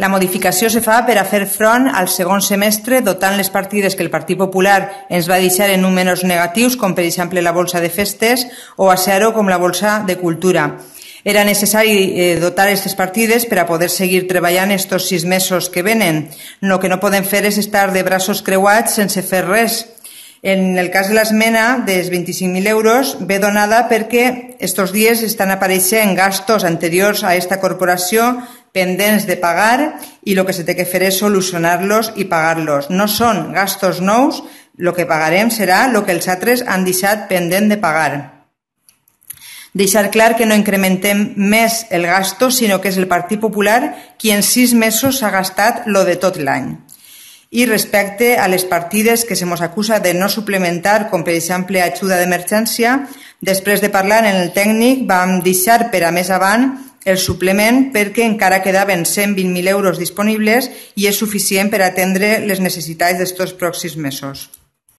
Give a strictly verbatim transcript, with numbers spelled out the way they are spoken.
La modificació se fa per a fer front al segon semestre dotant les partides que el Partit Popular ens va deixar en números negatius, com per exemple la bolsa de festes, o a zero com la bolsa de cultura. Era necessari dotar aquestes partides per a poder seguir treballant estos sis mesos que venen. El que no podem fer és estar de braços creuats sense fer res. En el cas de l'esmena dels vint-i-cinc mil euros ve donada perquè estos dies estan apareixent gastos anteriors a esta corporació pendents de pagar i el que se té que fer és solucionar-los i pagar-los. No són gastos nous, el que pagarem serà el que els altres han deixat pendent de pagar. Deixar clar que no incrementem més el gasto, sinó que és el Partit Popular qui en sis mesos s'ha gastat lo de tot l'any. I respecte a les partides que se mos acusa de no suplementar, com per exemple ajuda d'emergència, després de parlar en el tècnic vam deixar per a més avant el suplement perquè encara quedaven cent vint mil euros disponibles i és suficient per atendre les necessitats d'estos pròxims mesos.